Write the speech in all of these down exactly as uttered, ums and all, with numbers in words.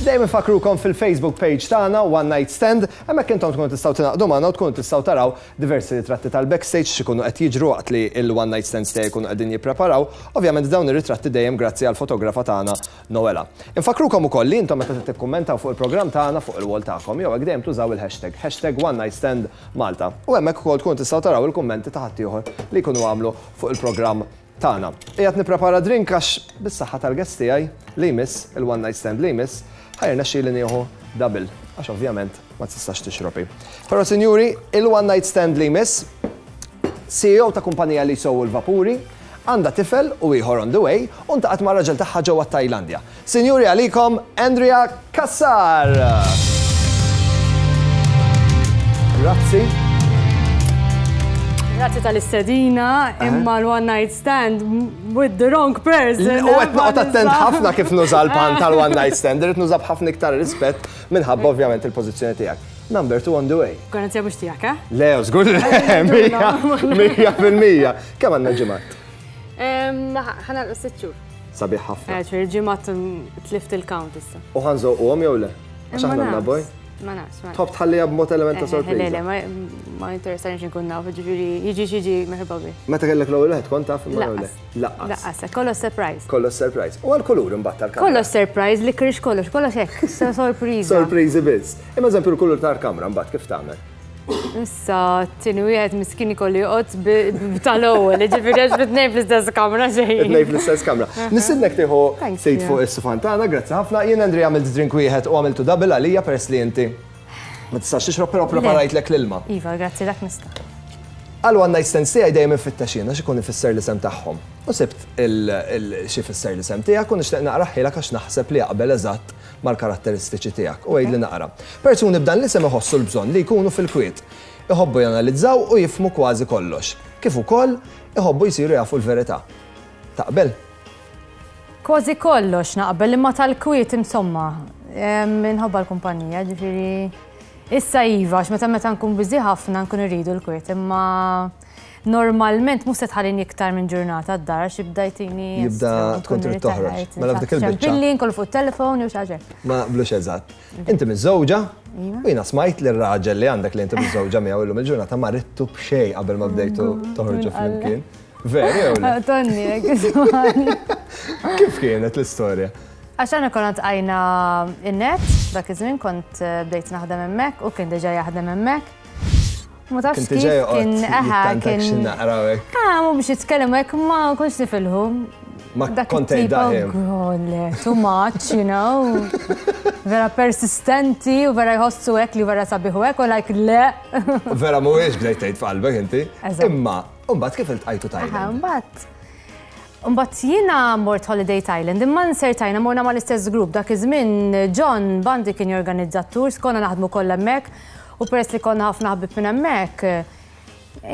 Dejjem infakkrukom fil-Facebook page tagħna One Night Stand, hemmhekk intom tkunu tistgħu tingħaqdu magħna u tkunu tistgħu taraw diversi ritratti tal-backstage x'ikunu qed jiġru waqt li il-One Night Stands tiegħi jkunu qegħdin jippreparaw. Ovvjament dawn ir-ritratti dejjem grazzi għal fotografa tagħna Noela. Infakkrukom ukoll li intom meta tikkummentaw fuq il-programm tagħna fuq il-wall tagħkom jew hekk dejjem tużaw il-hashtag hashtag One Night Stand Malta. U hemmhekk ukoll tkunu tistgħu taraw il-kummenti ta' ħaddieħor li jkunu għamlu fuq il-programm tagħna. Qiegħed nipprepara drink għax bis-saħħa tal-guest tiegħi li jmiss, il-one night stand li jmiss, ħa jirnexxili nieħu double, għax ovvjament ma tistax tixrobi. Però sinjuri, il-one night stand li jmiss, C E O ta' kumpanija li jsewu l-vapuri, għandha tifel u ieħor on the way, u ltaqgħet ma' raġel tagħha ġewwa Tajlandja. Sinjuri, għalikom Andrea Cassar! Grazzi. Grazzi tal-istedina, imma l-one night stand with the wrong person. U qed noqgħod attent ħafna kif nuża l-pun tal-one night stand, irrid nuża b'ħafna iktar rispett minħabba ovvjament il-pożizzjoni tiegħek. Number two on the way. Garanzija mhux tiegħek, eh? Le, żgur mija, mija fil-mija. Kemm għandna ġimgħat? Ħa nagħlqu sitt xhur. Sabiħ ħafna. Eh, ċer ġimgħat tlift il-count issa. U ħa nżewquhom jew le? Għax Imma aħna għandna nafx. boy. Ma nafx, ma nafx. Tħobb tħallija b'mod element ta' Eh, Le, le, sorpriża. ma- ma interessani nkun naf, ġifieri, jiġi xiġi merħba bi. Meta kellek l-ewwel wieħed kont taf imma jew le? Lanqas. Lanqas. Lanqas, kollox surprise. Kollox surprise. U għal-kulur imbagħad tal-kamra? Kollox surprise, li krix kollox, kollox hekk, sorpriża. Sorpriżi biss. Imma eżempju l-kulur tal-kamra mbagħad kif tagħmel? Issa, t-tieni wieħed miskin ikollu joqgħod tal-ewwel, ġifieri għax bit-tnejn fl-istess kamra xejn. It-tnejn fl-istess kamra. Nistednek tieħu Thank seat you. fuq is-sufan tagħna, grazzi ħafna. Jien, Andrea, għamilt drink wieħed u għamiltu double għalija peress li inti ma tistax tixrob, però preparajtlek l-ilma. Iva, grazzi, dak nista'. Għal one night stand tiegħi dejjem infittex jiena x'ikun ifisser l-isem tagħhom. U sibt xi fisser l-isem tiegħek u nixtieq naqrahielek għax naħseb li jaqbel eżatt mal-karatteristiċi tiegħek u għidli naqra. Persuni b'dan l-isem iħossu l-bżonn li jkunu fil-kwiet. Iħobbu janalizzaw u jifhmu kważi kollox. Kif ukoll iħobbu jsiru jafu l-verità. Taqbel? Kważi kollox naqbel, imma tal-kwiet insomma, minħabba l-kumpanija, ġifieri. Issa iva, għax meta meta nkun busy ħafna nkun irridu l-kwiet, imma normalment mhux se tħallini iktar minn ġurnata d-dar għax jibda jtini. Jibda tkun trid toħroġ. Mela f'dik il-biċċa. Billi nkollu fuq telefon jew xi ħaġa. Ma naqblux eżatt. Inti miżżewġa u jiena smajt li r-raġel li għandek, li inti miżżewġa miegħu illum il-ġurnata, ma ridtu b'xejn qabel ma bdejtu toħorġu flimkien. Veru jew le? Tonni, ismani. Kif kienet l-istorja? Għax għana konna ltqajna in-net, dak iż-żmien kont eh, bdejt naħdem hemmhekk u kien diġà jaħdem hemmhekk. Ma tafx Kien kif diġà joqgħod kien eħa jittantak kien. xi naqra hekk. Ah, mhu biex jitkellem hekk, ma kontx nifilħu. Ma Dak kont it-tip, tgħid daħim. oh, le, too much, you know. Vera persistenti u vera jħossu hekk li vera sabiħu hekk u like le. Vera mhuwiex bdejt tgħid f'qalbek inti. Eżatt. Imma mbagħad kif iltqajtu Aha, Thailand? Mbagħad Mbagħad jiena mort holiday Thailand, imma nsertajna morna mal-istess grupp. Dak iż-żmien John Bandi kien jorganizza tours, konna naħdmu kollha hemmhekk u peress li konna ħafna ħabib minn hemmhekk,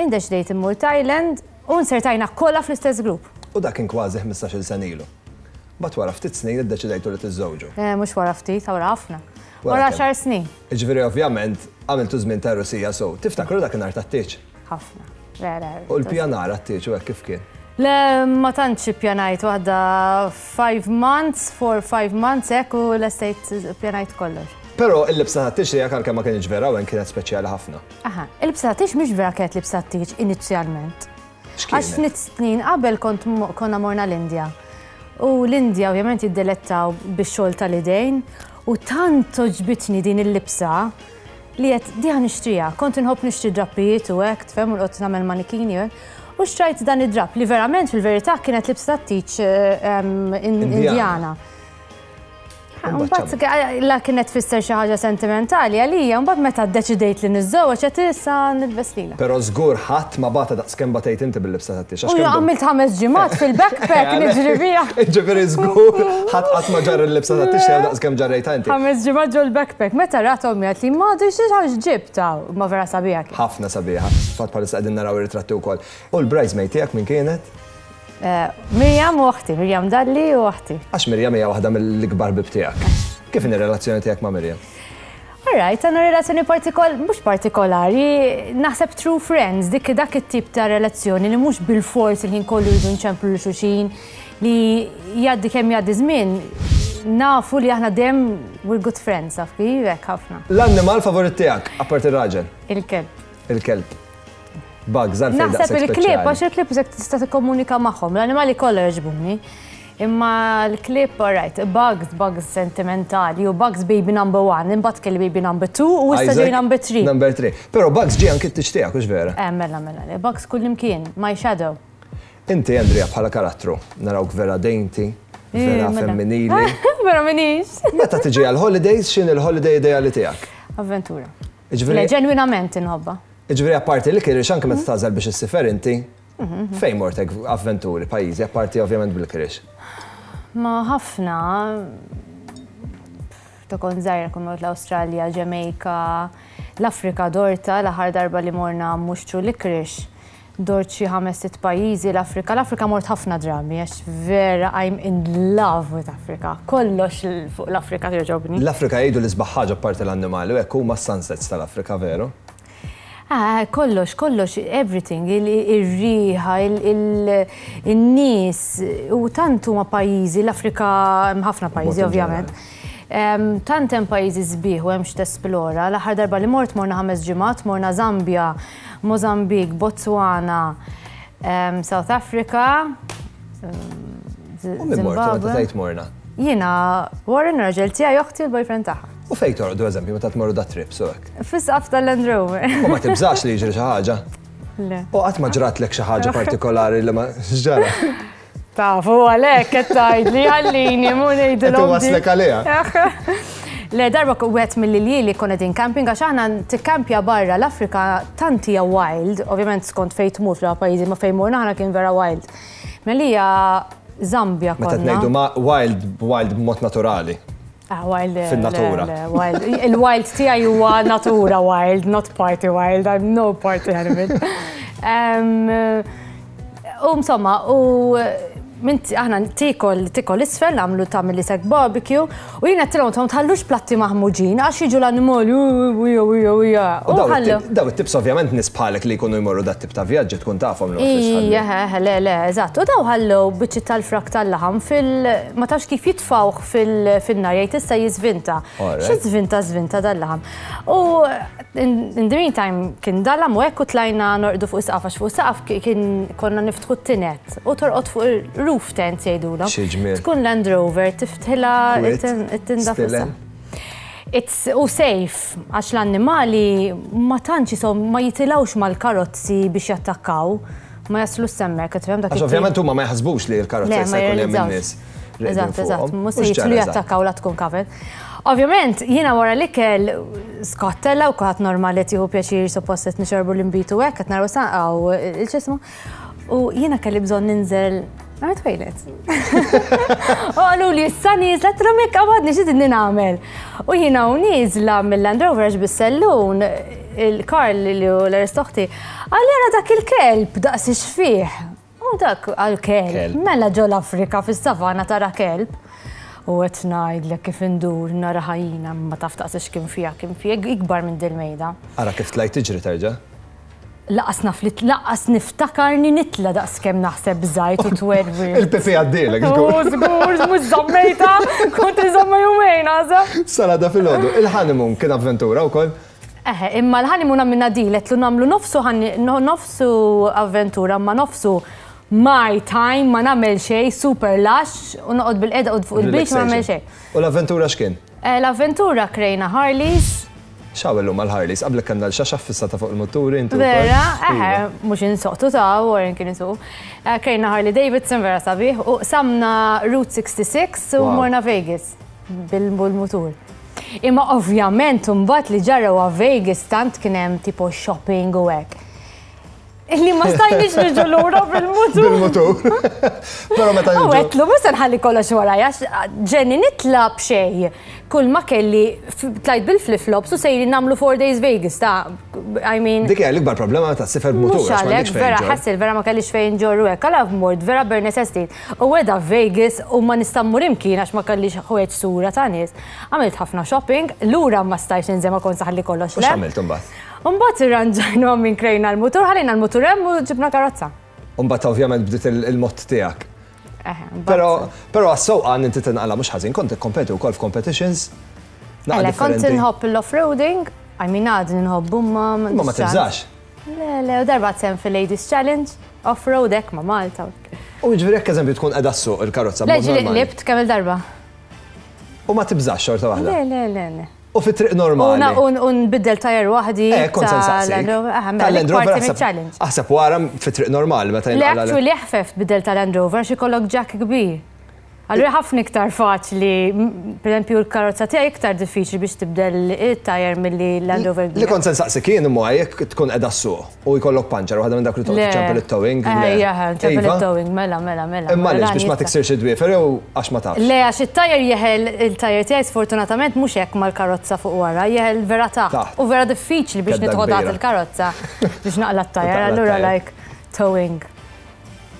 indeċidejt immur Thailand u nsertajna kollha fl-istess grupp. U dak kien kważi ħmistax-il sena ilu. Mbagħad wara ftit snin iddeċidejtu li tiżżewġu. Eh, Mhux wara ftit, wara ħafna. Wara Wara kemm? għaxar snin. Ġifieri ovvjament għamiltu żmien ta' Rusija, so tiftakru dakinhar tat-tieġ? Ħafna. Le, le. U l-pjanar għat-tieġ u hekk kif kien? Le, ma tantx pjanajt waħda five months, four, five months, hekk u l-estate pjanajt kollox. Però il-libsa tat-tieġ tiegħek, għalkemm ma kienx vera, u kienet speċjali ħafna. Aha, il-libsa tat-tieġ mhix vera kienet libsa tat-tieġ inizjalment. Għax X'kienet? ftit snin qabel kont mo- konna morna l-Indja. U l-Indja ovvjament jiddelettaw bix-xogħol tal-idejn u tant għoġbitni din il-libsa li għedt di ħa nixtriha. Kont inħobb nixtri drappijiet u hekk, tfhem, u noqgħod nagħmel manikini u hekk. U xtrajt dan id-drap li verament fil-verità kienet libsa tat-tieġ Indjana. Indjana. Mbagħad la kienet tfisser xi ħaġa sentimentali għalija, mbagħad meta ddeċidejt li niżżewweġ qed issa nilbes lilha. Però żgur ħadd ma bata daqs kemm batejt inti bil-libsa tat-tieġ. U għamilt ħames ġimgħat fil-backpack niġri biha. Ġifieri żgur ħadd qatt ma ġarr il-libsa tat-tieġ tiegħu daqs kemm ġarrejta inti. Ħames ġimgħat ġol backpack. Meta rat ommi għat li ma xi ħaġa ġibta, ma vera sabiħa kien. Ħafna sabiħa. Fatt bħalissa qegħdin naraw ir-ritratti wkoll. U l-bridesmaid tiegħek min kienet? Eh, Mirjam u oħti, Mirjam Dalli u oħti. Għax Mirjam hija waħda mill-ikbar ħbieb tiegħek. Kif inhi r-relazzjoni tiegħek ma' Mirjam? Alright, għandna relazzjoni partikol, mhux partikolari, naħseb true friends, dik dak it-tip ta' relazzjoni li mhux bil-fors il-ħin kollu jridu nċemplu lil xulxin, li jgħaddi kemm jgħaddi żmien, Nafu li aħna dejjem we're good friends, taf kif, hekk ħafna. L-annimal favorit tiegħek, apart ir-raġel? Il-kelb. Il-kelb. Bugs, għalfejn Naħseb daqshekk il-klieb, speċjali? Għax il-klieb isek tista' tikkomunika magħhom, l-animali kollha jogħġbuni. Imma l-klieb, alright, Bugs, Bugs sentimentali, u Bugs baby number one, imbagħad kelli baby number two, u issa ġej Isaac, number three. Number three. Però Bugs ġie anki t-tieġ tiegħek, hux vera? Eh, mela, mela, le, Bugs kullimkien, my shadow. Inti, Andrea, bħala karattru, narawk vera dainty, vera Eh, mela. femminili. Vera minix. Meta tiġi għal-holidays, x'inhi l-holiday ideali tiegħek? Avventura. Le, Ġifieri, ġenwinament inħobba. ġifieri apparti li kirix anke meta tagħżel biex issifer inti, fejn mortek avventuri, pajjiżi, apparti ovvjament bil-kirix? Ma ħafna, ta' kont żgħira kont mort l-Awstralja, Jamaica, l-Afrika dorta, l-aħħar darba li morna mhux through Licorice. Dort xi ħames sitt pajjiżi l-Afrika. L-Afrika mort ħafna drabi, għax vera I'm in love with Africa. Kollox fuq l-Afrika jogħġobni. L-Afrika jgħidu l-isbaħ ħaġa apparti l-annimali, u hekk huma sunsets tal-Afrika, veru? Ah, kollox, kollox, everything, il-riħa, il-nies, u tant huma pajjiżi, l-Afrika hemm ħafna pajjiżi Mod in ovvjament. Em, Tant hemm pajjiżi sbieħ u hemm x'tesplora. L-aħħar darba li mort morna ħames ġimgħat, morna Zambia, Mozambique, Botswana, em, South Africa, U min mortu meta tgħid morna? Jiena, Warren, raġel tiegħi, oħti, l-boyfriend tagħha. U fejn torqdu, eżempju, meta tmorru da trip, so hekk? Fis-saqaf tal-Land Rover. U ma tibżax li jiġri xi ħaġa? Le. U qatt ma ġratlek xi ħaġa partikolari li ma x'ġara? Tafu għalek, qed tgħidli ħallini mu ngħidilhom. Qed iwasslek għaliha. Le, darba wieħed mill-ljieli konna din camping, għax aħna tikkampja barra l-Afrika tant hija wild, ovvjament skont fejn tmur fl pajjiżi, ma fejn morna aħna kien vera wild. Melija Zambia Meta konna. tgħidu ma wild, wild b'mod naturali. Ah, wild. Le, Fin-natura. Le, wild. Il-wild tiegħi huwa natura wild, not party wild. I'm no party animal. Um, U insomma, u minn aħna tikol tikol isfel, nagħmlu tagħmel li sek barbecue, u jiena għedtilhom tom tħallux platti maħmuġin għax jiġu l-annimali, u u u u U u daw ħallu. it-tip- daw it-tips ovvjament nies bħalek li jkunu jmorru dat tip ta' vjaġġi tkun tafhom li ma fiex ħalli. Ija, le, le, eżatt. U daw ħallu biċċi tal-frak tal-laħam fil... Ma tafx kif jitfawh fil-nar, jgħid issa jiżvinta. Alright. Xi żvinta żvinta dal-laħam. U in in the meantime kien dalam u hekk u tlajna norqdu fuq saqaf, għax fuq saqaf kien konna niftħu t-tinet u torqod fuq il-roof tent jgħidulhom. Xi ġmiel. Tkun Land Rover, tiftħilha Kwiet, it-tinda fuq stilel. saqaf. It's u safe, għax l-annimali ma tantx jisom ma jitilawx mal-karozzi biex jattakkaw, ma jaslu semmek, tifhem dak Għax ovvjament huma ma jaħsbux li l-karozza Le, jista' ma jkun hemm jirrealizzawx. in-nies. reqdin Eżatt, eżatt, fuqhom. mhux U se x'ġara jitlu eżatt? jattakkaw la tkun covered. Ovvjament, jiena wara l-ikel skottella u kulħadd normali tieħu pjaċir, suppost qed nixorbu l-inbitu hekk qed naraw sanqaw il-ċismu. U jiena kelli bżonn ninżel għal toilet. U qalu li issa nieżla, għedtilhom jekk għadni xi tidni nagħmel. U jiena u nieżla mill-Land Rover għax bis-sellun il-Karl li hu l-aristoħti, għal jara dak il-kelb daqs fih. U dak għal-kelb, Kelb. mela ġo l-Afrika fis-savana tara kelb. U qed ngħidlek kif indur nara ħajjina ma taf taqsix kien fiha, kien fiha ikbar minn dil-mejda. Ara kif tlajt tiġri terġa'. Lanqas naf li lanqas niftakarni nitla daqs kemm naħseb żajt u twerwi. Il-pipi għaddilek, U żgur. żgur, mhux żammejta, kont iżomma jumejn għaża. Salada filgħodu. Il-honeymoon kien avventura wkoll. Eħe, imma l-honeymoon għamilna dilet lu nagħmlu nofsu ħanni- no- nofsu avventura, ma nofsu my time, ma nagħmel xejn, super lush, u noqgħod bil-qeda u fuq il-beach ma nagħmel xejn. U l-avventura x'kien? Eh, L-avventura krejna Harleys, X'hawn illum għal-Harleys? Qablek kellna l-xaxa fissata fuq il-moturi intu. wkoll? Vera, eħe, Iva. mhux insoqtu ta' Warren kien isuq. Eh, Krejna Harley Davidson, vera sabiħ, u samna Route siħħa u Wow. morna Vegas bil-mutur. Imma ovvjament mbagħad li ġara wa Vegas tant kien hemm tipo shopping u hekk. Illi ma stajniex niġu lura bil-mutur. Bil-mutur. Però meta U niġu. għedtlu, mhux se nħalli kollox warajja, ġenni nitla b'xej. Kull ma kelli f- tlajt bil-flip-flops u sejri nagħmlu four days Vegas, ta' I mean. Dik hija l-ikbar problema meta ssifer b'mutur. Mhux għax għalek, m'għandekx fejn vera ġorr. ħassil, vera ma kellix fejn ġorru hekk, għala mort, vera bare necessity. U weda Vegas u ma nista' mmur imkien għax ma kellix ħwejjeġ sura ta' nies. Għamilt ħafna shopping, lura ma stajx ninżel, ma kont saħalli kollox U le. x'għamilt imbagħad? Mbagħad irranġajna minn krejna l-mutur, ħallejna l-mutur hemm u ġibna karozza. U mbagħad ovvjament bdiet il- il-mod tiegħek. Però però għas-sewqan inti tinqala mhux ħażin, kont tikkompeti wkoll f'competitions. Le, kont inħobb l-off-roading, I mean għadni nħobbu ma. Ma ma tibżax? Le, le, u darba sehem fil-Ladies Challenge, off-road hekk ma' Malta. U ġifieri jekk eżempju tkun qiegħda ssuq il-karozza. Le, ġieli qlibt kemm il-darba. U ma tibżax xorta waħda? Le, le, le, le. U fi triq normali. U nbiddel tajer waħdi. Eh, kont se nsaqsik. Tal-Land Rover aħseb wara fi triq normali meta jinqala. Le, actually eħfef tbiddel tal-Land Rover xi jkollok jack kbir. Allura ħafna iktar faċli, per esempio l-karozza tiegħi iktar diffiċli biex tibdel it-tajer milli Land Rover. Li kont se nsaqsik jien imma jekk tkun qiegħda ssuq u jkollok puncture waħda minn dak li toqgħod iċċempel it-towing. Ejja, ċempel it-towing, mela, mela, mela. Imma għaliex biex ma tiksirx id-dwiefer jew għax ma tafx? Le, għax it-tajer jeħel il-tajer tiegħi sfortunatament mhux hekk mal-karozza fuq wara, jeħel vera taħt. U vera diffiċli biex nitħodat il-karozza biex naqla t-tajer, allura like towing.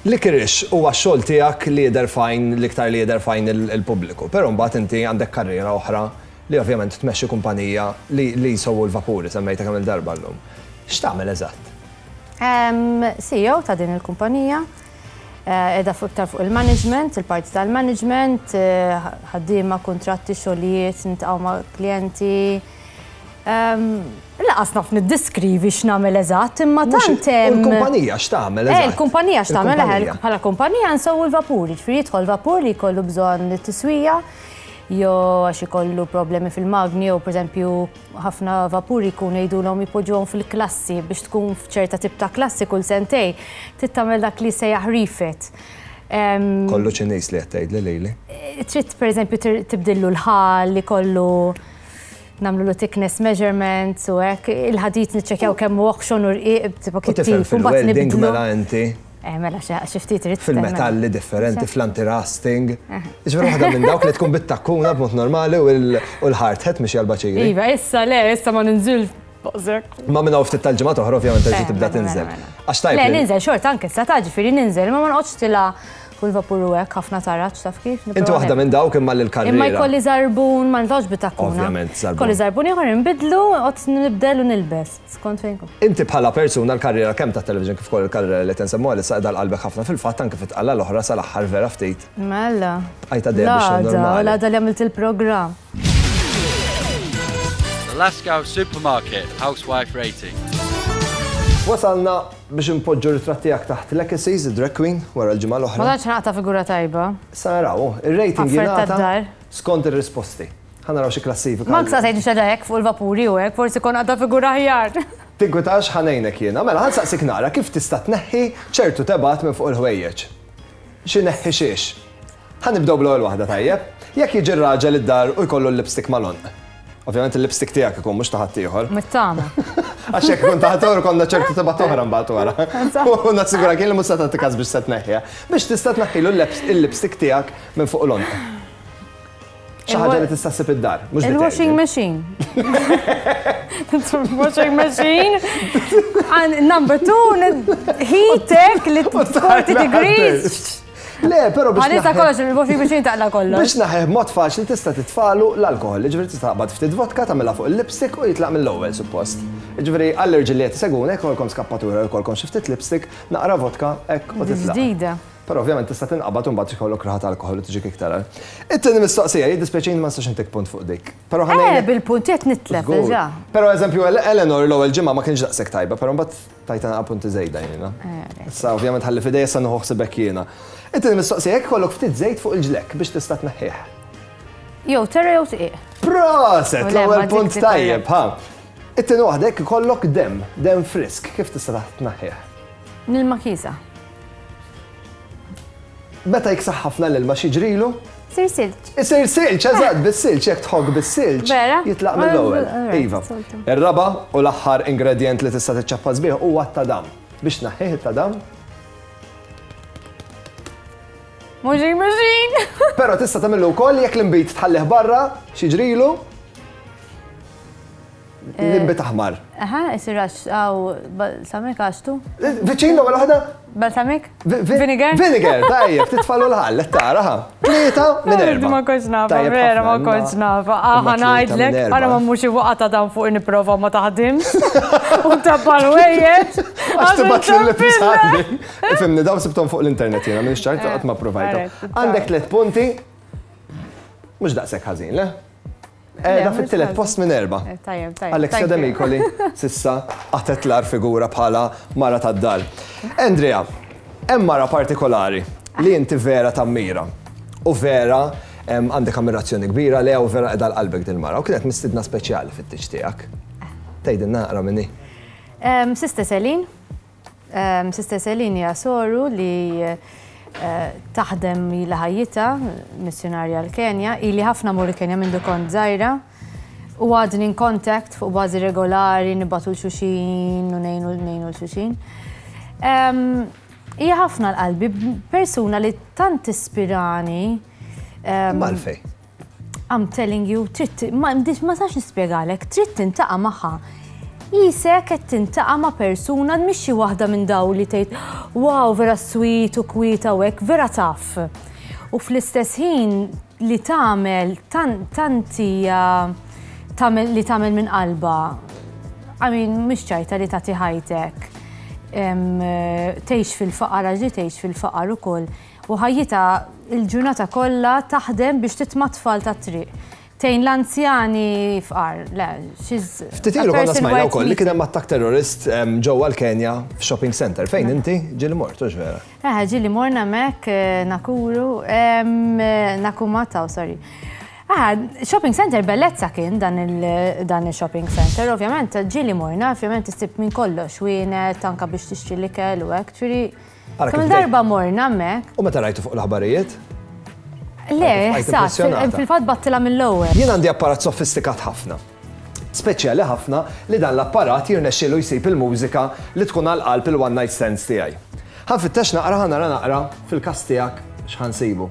Licorice huwa x-xogħol tiegħek li jidher fajn l-iktar li jidher fajn il-pubbliku, però mbagħad inti għandek karriera oħra li ovvjament tmexxi kumpanija li li jsewwu l-vapuri semmejta kemm il-darba llum. X'tagħmel eżatt? C E O ta' din il-kumpanija, qiegħda fuq iktar fuq il-management, il-parti tal-management, ħaddiema, kuntratti, xogħlijiet, niltaqgħu ma' klijenti. Laqas naf niddiskrivi x'nagħmel eżatt, imma tant hemm. Il-kumpanija x'tagħmel eżatt? Eh, il-kumpanija x'tagħmel bħala kumpanija nsewwu l-vapuri, ġifieri jidħol vapur li jkollu bżonn tiswija, jew għax ikollu problemi fil-magni, jew pereżempju ħafna vapuri jkunu jgħidulhom jpoġġuhom fil-klassi biex tkun f'ċerta tip ta' klassi kull sentej, trid tagħmel dak li sejjaħ refit. Kollu Ċiniż li qed tgħidli lili. Trid pereżempju tibdillu l-ħal li kollu nagħmlu thickness measurements u hekk, il-ħadid niċċekkjaw kemm hu oħxon u rqiq tipo kittif. Fil-welding mela inti. Eh, mela xi ftit irid. Fil-metalli differenti, fl-anti-rusting. Ġifieri waħda minn dawk li tkun bit-takkuna b'mod normali u l-hard hat mhix għall-baċiri. Iva, issa le, issa ma ninżil baqsek. Ma minn hawn ftit tal-ġimgħat oħra ovvjament terġa' tibda tinżel. Għax tajb. Le, ninżel xorta anke issa ta' ġifieri ninżel, ma ma noqgħodx tilha kull vapur u hekk ħafna taraġ taf kif. Inti waħda minn dawk imma l-karriera. Imma jkolli żarbun, ma nitgħodx bit-takkuna. Ovvjament żarbun. Kolli żarbun ieħor inbidlu, qgħod nibdel u nilbes skont fejn kun. Inti bħala persuna l-karriera kemm tat-television kif ukoll il-karriera li tinsemmu għal issa qiegħda qalbek ħafna fil-fatt anke fit-tqalla l-oħra sal-aħħar vera ftit. Mela. Bqajt għaddejja biex normali. L-għada li għamilt il-programm. The Lascaux Supermarket Housewife Rating. Wasalna biex impoġġu ritratti tiegħek taħt Legacies, drag queen, wara l-ġimgħa l-oħra. Ma tantx naqta' figura tajba. Sa naraw, ir-rating jingħata skont ir-risposti. Ħa naraw xi klassifika. Ma nsa tgħid xi hekk fuq il-vapuri u hekk, forsi kon għadha figura aħjar. Tinkwitax ħanejnek jiena. Mela ħa nsaqsik nara kif tista' tneħħi ċertu tebat minn fuq il-ħwejjeġ. Xi neħħi xiex. Ħa nibdew bl-ewwel waħda tajjeb. Jekk jiġi r-raġel id-dar u jkollu l-lipstick mal-għonq. Ovvjament il-lipstick tiegħek ikun mhux ta' ħaddieħor. Mittama. Għax jekk ikun ta' ħaddieħor konna ċertu tibgħat oħra mbagħad wara. U nassigura kien li mhux se tagħti każ biex se tneħħiha. Biex tista' tneħħilu l-lipstick tiegħek minn fuq l-għonq. Xi ħaġa li tista' ssib id-dar, mhux Il-washing machine. Washing machine. And number two, heat li forty degrees. Le, però biex. Għalissa kollox, il-washing machine taqla kollox. Biex naħeh b'mod faċli tista' titfalu l-alkohol, ġifieri tista' taqbad ftit vodka tagħmilha fuq il-lipstick u jitlaq mill-ewwel suppost. Ġifieri għall-irġiel li qed isegwuna jekk ikollkom skappatura jkollkom xi ftit lipstick, naqra vodka hekk u titlaq. Ġdida. Però ovvjament tista' tinqabad u mbagħad ikollok raħat alkohol u tiġik iktar. It-tieni mistoqsija, jiddispjaċini ma nistax intik punt fuq dik. Però ħa Eh, bil-punti qed nitlef diġà. Però eżempju Eleanor l-ewwel ġimgħa ma kienx daqshekk tajba, però mbagħad tajta naqra punti żejda jiena. Issa ovvjament ħalli f'idejja sa nieħu ħsibek jiena. It-tieni mistoqsija jekk ikollok ftit żejt fuq il-ġlekk biex tista' tneħħih. Jew terra jew tqiq. Proset, l-ewwel punt tajjeb, ha. It-tieni waħda jekk ikollok dem, dem frisk, kif tista' tneħħih? Nilma kisa. Meta jiksaħ ħafna l-ilma x'jiġrilu? Isir silġ. Isir silġ, eżatt, bis-silġ, jekk tħokk bis-silġ. Jitlaq mill-ewwel. Iva. Ir-raba' u l-aħħar ingredjent li tista' tiċċappas bih huwa t-tadam. Biex tneħħih it-tadam? Washing machine. Però tista' tagħmillu wkoll jekk l-inbid tħallih barra, x'jiġrilu? L-inbid aħmar. Aha, isir għax għaw balsamik għaxtu. Viċin l-ewwel waħda? Balsamik? Vinegar? Vinegar, tajjeb, titfalu l-ħall, tara ħa. Tlieta minn erba'. Ma kontx nafa, vera ma kontx nafa. Aħa ngħidlek, ara ma mhux waqa' ta' dan fuq nipprova ma taħdimx. U tabba l-wejjeġ. Għax tibgħat l-libsa. Ifhimni, dawn sibthom fuq l-internet jiena, minn xċart qatt ma provajthom. Għandek tliet punti, mhux daqshekk ħażin, le? Qiegħda fit-tielet post minn erba'. Tajjeb, tajjeb. Alexia Demicoli s'issa qatet l-agħar figura bħala mara tad-dar. Andrea, hemm mara partikolari li inti vera tammira u vera għandek ammirazzjoni kbira lejha u vera qiegħda qalbek din mara u kienet mistidna speċjali fit-tieġ tiegħek. Tgħidilna naqra minni. Sister Celine. Sister Celine hija soru li taħdem ilha ħajjitha, missjonarja l-Kenja, ili ħafna mur il-Kenja minn kont żgħira. U għadni in contact fuq bażi regolari, nibagħtu 'l xulxin u ngħinu ngħinu 'l xulxin. Hija ħafna għal qalbi, persuna li tant ispirani. Għalfejn. I'm telling you, trid, ma ma sax nispjegalek, trid tiltaqa' magħha. Qisek qed tiltaqa' ma' persuna mhix xi waħda minn daw li tgħid wow, vera sweet u kwieta u hekk, vera taf. U fl-istess ħin li tagħmel tanti tagħmel li tagħmel minn qalba. I mean, mhix ċajta li tagħti ħajtek. Tgħix fil-faqar, għax tgħix fil-faqar ukoll. U ħajjitha il-ġurnata kollha taħdem biex titma' tfal tat-triq. Tgħin l-anzjani fqar, le, she's Ftit ilu konna smajna wkoll li kien hemm attakk terrorist ġewwa l-Kenja f'shopping center. Fejn inti ġieli mort, hux vera? Eh, ġieli morna hemmhekk Nakuru, Nakumataw, sorry. Ah, shopping center bellezza kien dan il-shopping center, ovvjament ġieli morna, ovvjament issib minn kollox, wienet, anka biex tixtri l-ikel u hekk, ġifieri kemm darba morna hemmhekk. U meta rajtu fuq l-aħbarijiet? Le, sa, fil-fatt bgħattilha mill-ewwel. Jien għandi apparat sofistikat ħafna. Speċjali ħafna li dan l-apparat jirnexxielu jsib il-mużika li tkun għal qalb il-one night stands tiegħi. Ħa nfittex naqra, ħa nara naqra fil-każ tiegħek x'ħa nsibu.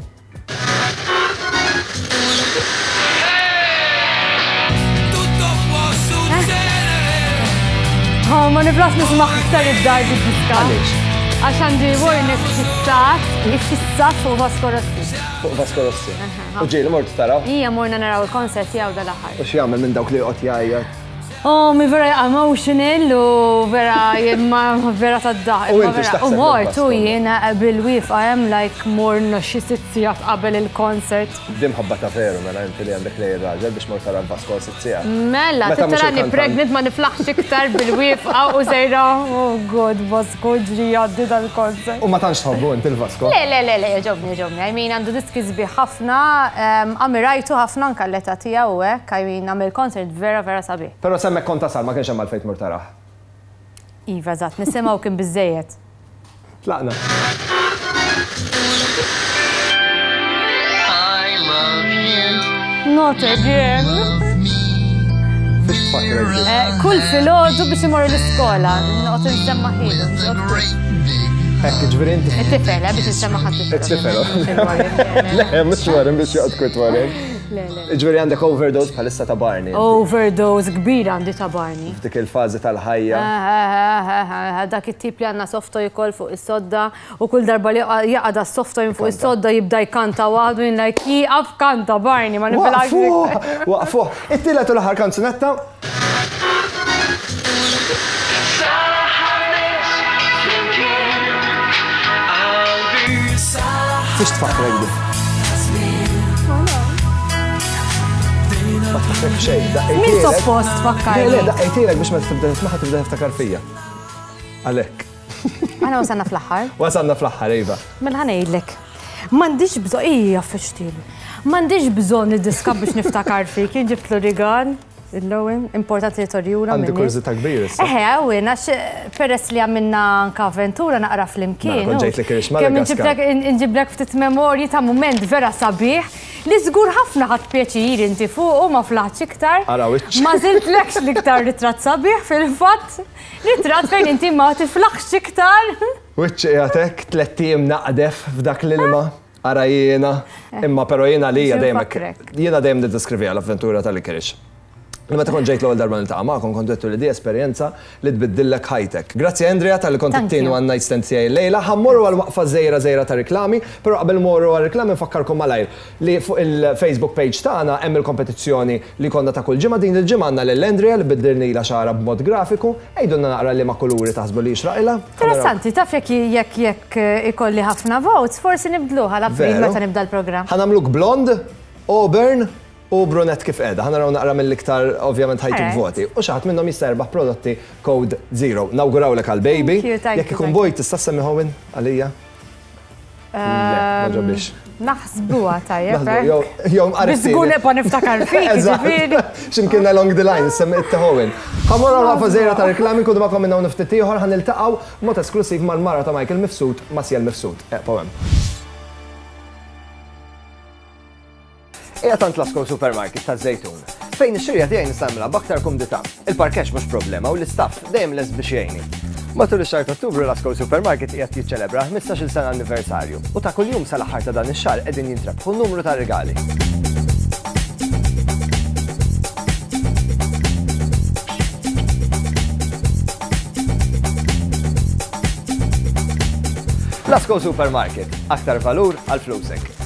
Oh, ma niflaħx nisma' iktar id-dar bid-diska. Għaliex? Għax għandi Warren fissat, fissat fuq Vasco Rossi. Fuq Vasco Rossi. U ġieli mort taraw? Ija morna naraw il-concert tiegħu dal-aħħar. U x'jagħmel minn dawk li joqgħod jgħajjat? Oh, mi vera emotional u vera ma vera tad-daħk. U inti x'taħseb? U mort u jiena bil-wieqfa hemm like morna xi sitt sigħat qabel il-concert. Din mħabba ta' veru mela inti li għandek lej ir-raġel biex mort tara l-Vasco sitt sigħat. Mela, tarani pregnant ma niflaħx iktar bil-wieqfa u sejra, oh God, Vasco ġri jgħaddi dal-concert. U ma tantx tħobbu inti l-Vasco? Le, le, le, le, jogħġobni, jogħġobni. I mean, għandu diski sbieħ ħafna, ammirajtu ħafna anke l-età tiegħu hekk, I mean, għamel concert vera vera sabiħ. Però s'hemmhekk kont tasal ma kienx hemm għalfejn tmur tarah. Iva, eżatt, nisimgħu kien biżejjed. Tlaqna. I love you. Not again. Fiex tfakkrek din? Eh, kull filgħodu biex imorru l-iskola, noqgħod insemma' ħilu. Hekk, ġifieri inti. It-tifel, eh, biex insemma' ħadd It-tifel. Le, mhux Warren biex joqgħod kwiet Warren. Le, le. Ġifieri għandek overdose bħalissa ta' Barney. Overdose kbira għandi ta' Barney. F'dik il-fażi tal-ħajja. Dak it-tip li għandna soft toy ukoll fuq is-sodda u kull darba li jaqa' da soft toy fuq is-sodda jibda jkanta waħdu jien like jieqaf kanta Barney ma nifilhax. Waqfuh, waqfuh. It-tielet u l-aħħar kanzunetta. Fiex tfakkrek di? Ma tfakkrek xejn, daqqejtilek. Min suppost tfakkarni? Le, le, daqqejtilek biex meta tibda tismaħ tibda tiftakar fija. Għalhekk. Aħna wasalna fl-aħħar. Wasalna fl-aħħar, iva. Mela ħa ngħidlek. M'għandix bżonn, ija fixtilu. M'għandix bżonn id-diska biex niftakar fik, jien ġibtlu rigal. Il-lowin, importanti li torjura Għandi minni. kurżità kbira issa. Eħe, għawin, għax peress li għamilna anka avventura naqra flimkien. Mela, kont ġejt li kirix Kemm Madagaskar. inġiblek, inġiblek ftit memorji ta' moment vera sabiħ li żgur ħafna ħadd pjaċir inti fuq u ma flaħtx iktar. Ara wiċċ. Ma żiltlekx l-iktar ritratt sabiħ fil-fatt, ritratt fejn inti ma tiflaħx iktar. Wiċċ qiegħed tlett ijiem naqdef f'dak l-ilma. Ara jiena, imma però jiena li Biex dejjem infakrek. jiena dejjem niddeskriviha l-avventura tal-Ikirix. Li meta kont ġejt l-ewwel darba niltaqa' magħkom kont għedtu li di esperjenza li tbiddillek ħajtek. Grazzi Andrea talli kont Thank it-tieni you. one night stand tiegħi llejla. Ħa mmorru għal waqfa żgħira żgħira ta' riklami, però qabel morru għal riklami nfakkarkom malajr li fuq il-Facebook page tagħna hemm il-kompetizzjoni li konna ta' kull ġimgħa. Din il-ġimgħa għandna lil Andrea li biddilnila xagħarha b'mod grafiku. Għidulna naqra liema kuluri taħsbu li jixraqilha. Interessanti, taf jekk jekk jekk ikolli ħafna votes, forsi nibdluha l-April Veru. meta nibda l-programm. Ħa nagħmluk blond, auburn u brunet kif qiegħda. Ħa naraw naqra mill-iktar ovvjament ħa jtuk Alright. voti. U xi ħadd minnhom jista' jerbaħ prodotti Code Zero. Nawgurawlek għal baby. Thank you, thank Jekk you, ikun thank boy tista' semmi Owen għalija? Le, ma ġobix. Naħsbuha tajjeb. Naħsbu, jew- jew mqarib Biżgur tieni. nibqa' niftakar fik, Eżatt. ġifieri. X'imkien along the line, semmi Owen. Ħa mmorru għal waqfa żgħira ta' reklami nkunu magħkom minn hawn ftit ieħor ħa niltaqgħu mod esklusiv mal-mara ta' Michael Mifsud, Masiel Mifsud. Eqgħu hemm. Qiegħed għand Lasco Supermarket ta' Żejtun, fejn ix-xirja tiegħi nista' nagħmilha b'aktar kumdità. Il-parkeġġ mhux problema u l-istaff dejjem lest biex jgħinni. Matul ix-xahar ta' Ottubru Lasco Supermarket qiegħed jiċċelebra ħmistax-il sena anniversarju u ta' kuljum sal-aħħar ta' dan ix-xahar qegħdin jintrebħu numru ta' regali. Lasco Supermarket, aktar valur għal flusek.